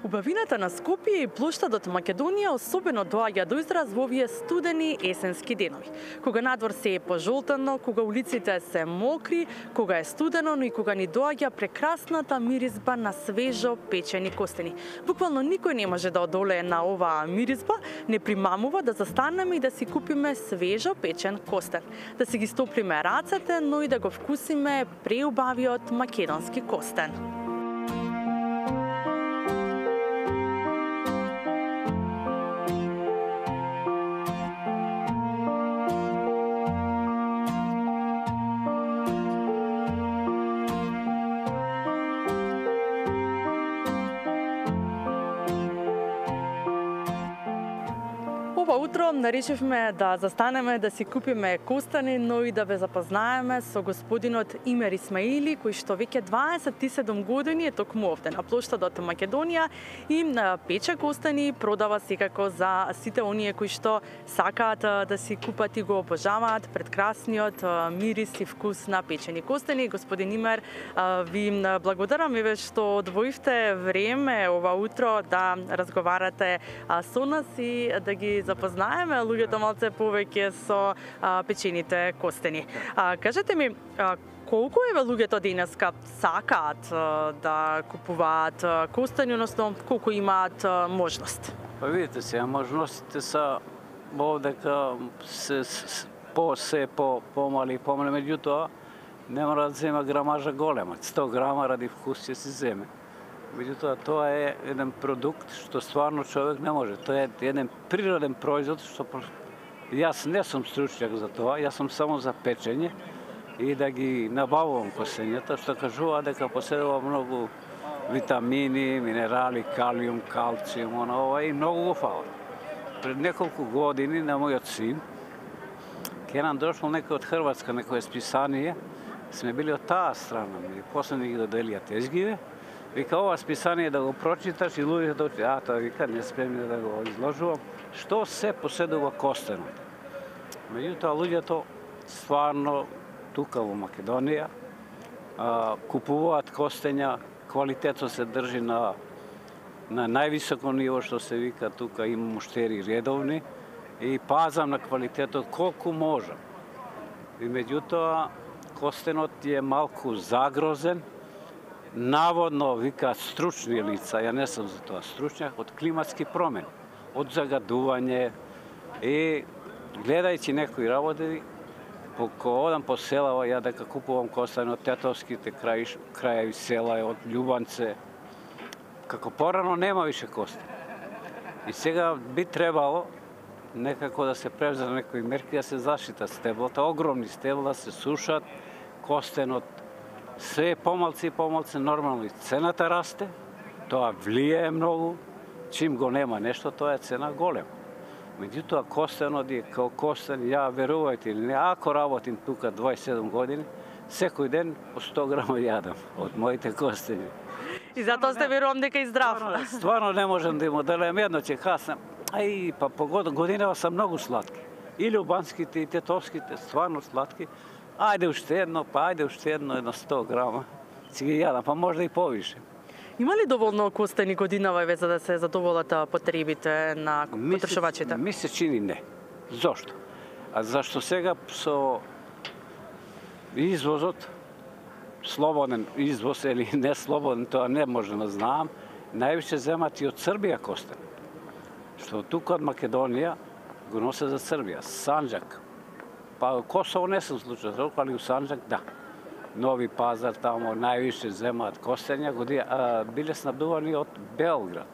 Убавината на Скопје и плоштадот Македонија особено доаѓа до израз во овие студени есенски денови. Кога надвор се е пожолтено, кога улиците се мокри, кога е студено, но и кога ни доаѓа прекрасната миризба на свежо печени костени. Буквално никој не може да одолее на оваа миризба, не примамува да застанеме и да си купиме свежо печен костен, да си ги стоплиме рацете, но и да го вкусиме преубавиот македонски костен. Ова утро решивме да застанеме да си купиме костани, но и да ве запознаеме со господинот Имер Исмаили, кој што веќе 27 години е токму овде на плоштадот Македонија и пече костани, продава секако за сите оние кои што сакаат да си купат и го обожаваат прекрасниот мирис и вкус на печени костани. Господин Имер, ви благодарам еве што одвоивте време ова утро да разговарате со нас и да ги запознаеме луѓето малце повеќе со печените костени. Кажете ми, колку еве луѓето денеска сакаат да купуваат костени, односно колку имаат можност? Па видите се, можностите са овдека се помали, меѓутоа не мора да зема грамажа голема, 100 грама ради вкус ќе се земе. Меѓутоа, тоа е еден продукт што стварно човек не може. Тоа е еден природен производ што јас не сум стручњак за тоа, јас сум само за печење и да ги набавувам костењата, што кажува дека поседува многу витамини, минерали, калиум, калциум, ова и многу го фала. Пред неколку години на мојот син ке нам дошол некој од Хрватска, некој списание, сме били од таа страна, и после ни ги доделија тезгиве. Вика, ова списание да го прочиташ и луѓето тоа вика, не спремни да го изложувам, што се поседува костенот. Меѓутоа, луѓето стварно тука во Македонија купуваат костења, квалитетот се држи на највисоко ниво, што се вика, тука има муштери редовни и пазам на квалитетот колку можам. И меѓутоа, костенот е малку загрозен, наводно, викаат стручни лица, ја не сум за тоа стручњак, од климатски промени, од загадување и гледајќи некои работи, кога одам по селава, ја дека купувам костани од тетовските крајеви села, од Љубанце, како порано нема више костани. И сега би требало некако да се превзат некои мерки да се заштитат стеблата, огромни стебла се сушат, костенот се е помалци и помалци, нормално и цената расте, тоа влијае многу, чим го нема нешто, тоа е цена голема. Меѓутоа, костенот е као костен, ја верувајте или не, ако работим тука 27 години, секој ден по 100 грама јадам од моите костени. И затоа сте верувам дека и здрав. Стварно не можам да им оделем, едно ќе кажам, па по годинава са многу сладки. И љубанските, и тетовските, стварно сладки. Ајде уште едно, едно 100 грама. Си ги јадам, па можда и повише. Има ли доволно костени годинава еве за да се задоволат потребите на потрошувачите? Ми се чини не. Зошто? Зашто сега со извозот, слободен извоз или не слободен, тоа не можем да знаам, највише земат и од Србија костен. Што тука од Македонија го носе за Србија, Санџак. Па Косово не сум случај, али у Санџак да. Нови Пазар тамо највише земаат костења, биле снабдувани од Белград.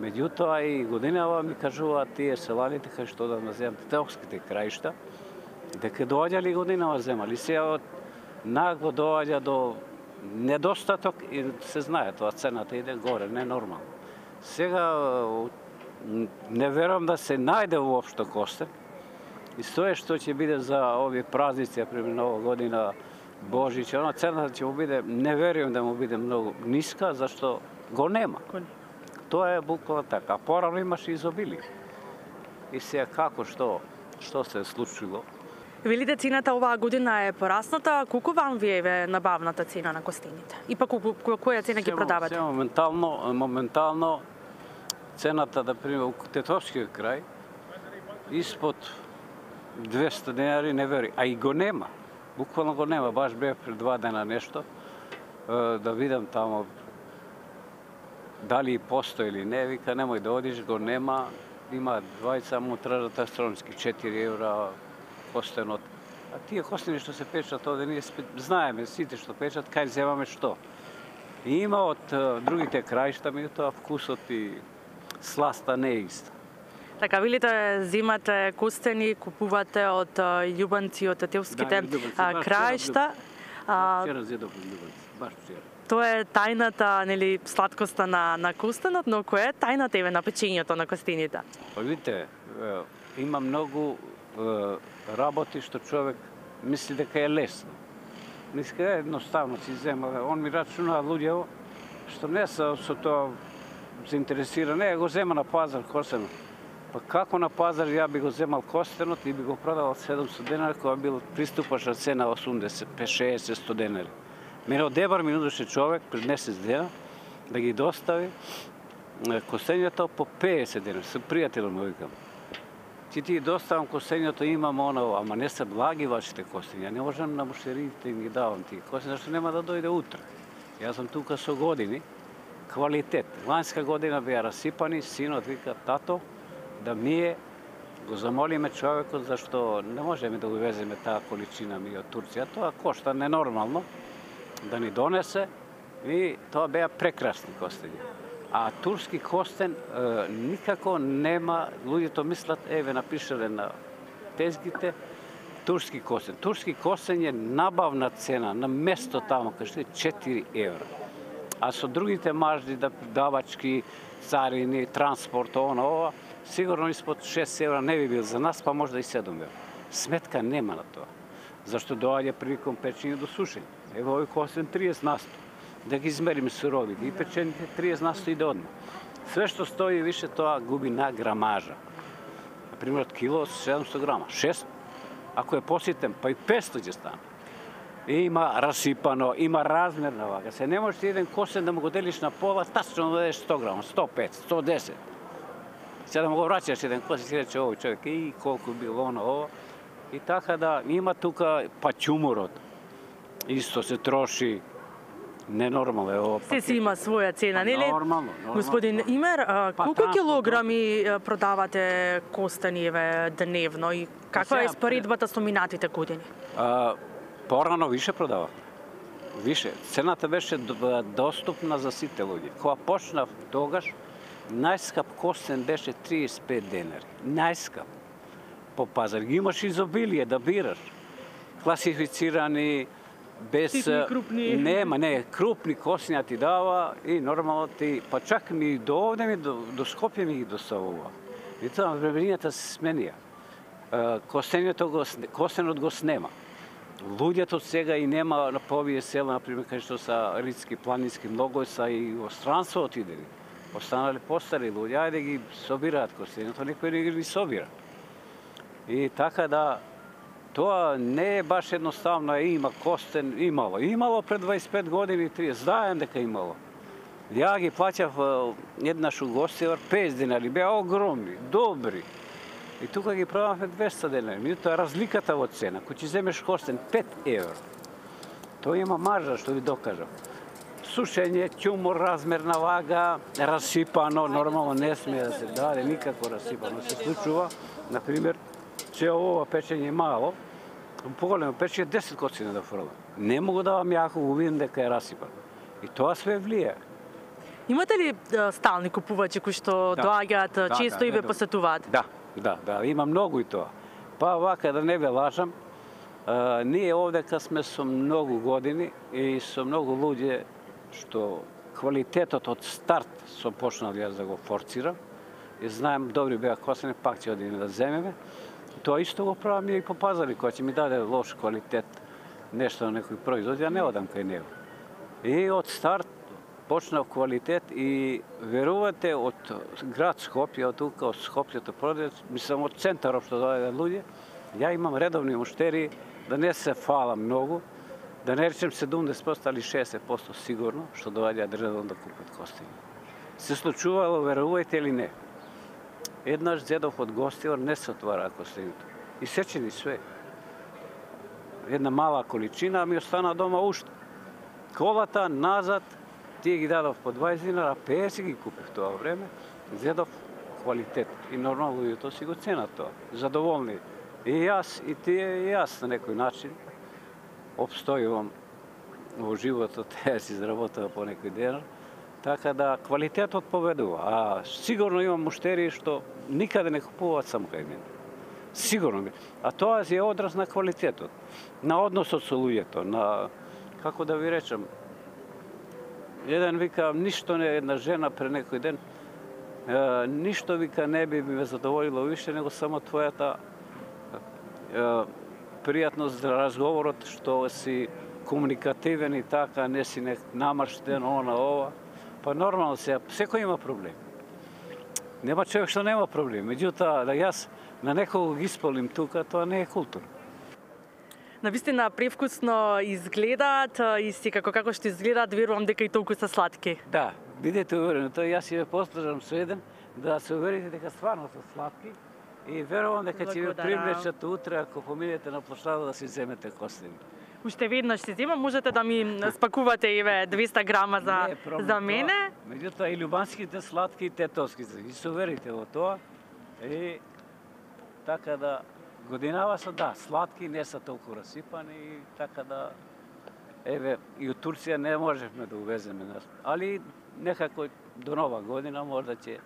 Меѓутоа и годинава ми кажуваат тие селаните кај што да земат тетовските краишта, дека доаѓали годинава земали. Сега нагло доаѓа до недостаток и се знае тоа, цената иде горе, не нормално. Сега не верувам да се најде воопшто костен. И тоа што ќе биде за овие празници, пример Нова година, Божич, цената ќе му биде, не верувам да му биде многу ниска, зашто го нема. Тоа е буквално така. Порано имаше изобилие. И сега како, што се е случило? Велите цената оваа година е порасната, колку вам ви е набавната цена на костените? И па која цена ги продавате? Моментално цената, да пример, у Тетовскиот крај, испод 200 денари не вери, а и го нема. Буквално го нема, баш бе пред 2 дена нешто, да видам тамо дали постои или не, вика немој да одиш, го нема, има двајца му тражат астрономски 4 евра костенот. А тие костени што се печат овде, ние знаеме сите што печат, кај земаме што. И има од другите краишта, меѓутоа вкусот и сласта не е иста. Така, велите, земате костени, купувате од љубанци, од тетовските краишта. Вчера зедов љубанци, баш вчера. Тоа е тајната, нели, сладкоста на костенот, но која е тајната еве на печењето на костените? Па видите, има многу работи што човек мисли дека е лесно. Мисли дека е едноставно си зема. Он ми рачуна луѓе што не се со тоа заинтересирани, го зема на пазар костенот. Па како на пазар ја би го земал костенот и би го продавал 700 денари, кога бил приступачна цена 80, 60, 100 денари. Мене од Дебар ми нудеше човек пред месец дена да ги достави костењето по 50 денари. Со пријателот му викам. Ти доставам костењето, имам оно, ама не се благи вашите костења. Не можам на муштериите им ги давам тие костења, зашто нема да дојде утре. Јас сум тука со години, квалитет. Ланска година беа расипани, синот вика, тато, да ние го замолиме човекот, зашто не можеме да увеземе таа количина ми од Турција. Тоа кошта ненормално да ни донесе и тоа беа прекрасни костења. А турски костен никако нема, луѓето мислат, еве напишале на тезгите, турски костен. Турски костен е набавна цена на место тамо, кај што е 4 евра. А со другите мажди, давачки, царини, транспорт, ова, сигурно испод 6 евра не би бил за нас, па може да и 7 евра. Сметка нема на тоа. Зашто доаѓа приликом печење до сушење. Ево овој костен 30%. Да ги измериме суровите и печените 30% иде одма. Све што стои више тоа губи на грамажа. Например, кило 700 грама, 6, ако е поситен, па и 500 ќе стане. И има расипано, има размерна вага. Се не можеш еден костен да му го делиш на пола, тачно да дадеш 100 грама, 105, 110. Сега да му го враќаш еден костен, си рече овој човек, и колку било оно, ова. И така да, има тука пачумурот. Исто се троши. Ненормално е ова. Се си има своја цена, нели? Нормално. Господин Имер, колку килограми продавате костени дневно и каква е споредбата со минатите години? Порано више продава. Више. Цената беше доступна за сите луѓе. Кога почнав тогаш, најскап костен беше 35 денари. Најскап. По пазар. Ги имаш изобилие да бираш. Класифицирани, без крупни. Не, крупни костења ти дава и нормално ти, па чак ми до овде до Скопје ми ги доставува. И тоа времењата се сменија. Костенот го снема. Луѓето сега и нема на повие села, например, кај што са ридски, планински, многу са и во странство отидели. Останале постари луѓе, ајде ги собираат костењето, никој не ги собира. И така да, тоа не е баш едноставно, има костен, имало. Имало пред 25 години, 30, знаем дека имало. Ја ги плаќав еднаш у Гостивар 50 денари, беа огромни, добри. И тука ги продавме 200 денари. Меѓутоа разликата во цена, кој ќе земеш костен 5 евро, тоа има маржа, што ви докажам. Сушење, ќумур, размерна вага, расипано, нормално не смее да се даде никако расипано. Се случува, например, че ова печење е мало, поголемо печење 10 костени да фрлам. Не могу да вам јако го видим дека е расипано. И тоа све влие. Имате ли стални купувачи кои што доаѓаат често и ве посетуваат? Да, има многу и тоа. Па вака да не ве лажам, ние овдека сме со многу години и со многу луѓе што квалитетот од старт сум почнал јас да го форцирам и знаем добри беа костени, пак ќе одиме да земеме. Тоа исто го правам и по пазари, кој ќе ми даде лош квалитет, нешто на некој производ, ја не одам кај него. И од старт почнав квалитет и верувате од град Скопје, од тука, од Скопјето продавец, мислам од центарот што доаѓаат луѓе, ја имам редовни муштери, да не се фалам многу, да не речем 70% или 60% сигурно, што доаѓаат редовно да купат костени. се случувало, верувајте или не. Еднаш зедов од гостивар не се отвара костените. Исечени све. Една мала количина, ми остана дома уште. Колата назад, тие ги дадов по 20 динара, 50 ги купив тоа време, зедов квалитет. И нормално луѓето си го ценат тоа. Задоволни. И јас, и тие, и јас на некој начин обстојувам во животот, ја си изработува по некој ден. Така да квалитетот победува. А сигурно имам муштери што никаде не купуваат само кај мене. Сигурно ми. А тоа е одраз на квалитетот, на односот со луѓето, на, како да ви речам, еден вика, ништо не, една жена пред некој ден, ништо вика не би ме задоволило више него само твојата пријатност за разговорот, што си комуникативен и така, не си намрштен, ова. Па нормално секој има проблем. Нема човек што нема проблем. Меѓутоа, да јас на некого ги исполним тука, тоа не е култура. Навистина превкусно изгледаат и си како што изгледаат, верувам дека и толку се сладки. Да, бидете уверени, тоа јас ќе ве послужам со еден, да се уверите дека стварно се сладки и верувам дека ќе ве привлечат утре ако поминете на площада да си земете костени. Уште веднаш си земам, можете да ми спакувате еве 200 грама за мене. Меѓутоа и љубанските сладки и тетовските, ги се уверите во тоа. И така да годинава се, да, сладки не се толку расипани и така да еве и од Турција не можевме да увеземе, али некако до нова година можда ќе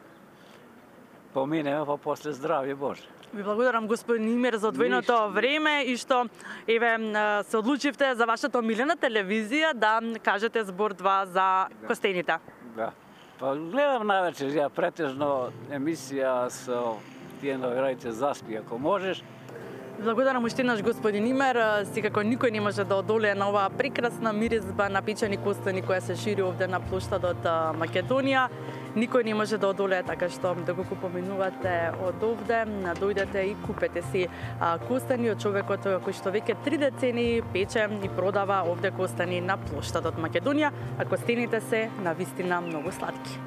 поминеме, па после здравје Боже. Ви благодарам, господин Имер, за одвоеното време и што еве се одлучивте за вашата омилена телевизија да кажете збор 2 за костените. Да. Па гледам навечер, ја претежно емисија со тие новирајте Заспи, ако можеш. Благодарам уште еднаш, господин Имер. Секако никој не може да одолее на оваа прекрасна миризба на печени костени која се шири овде на плоштадот Македонија. Никој не може да одолее, така што да го поминувате од овде, дојдете и купете си костени од човекот кој што веќе 3 децени пече и продава овде костени на плоштадот Македонија, а костените се навистина многу сладки.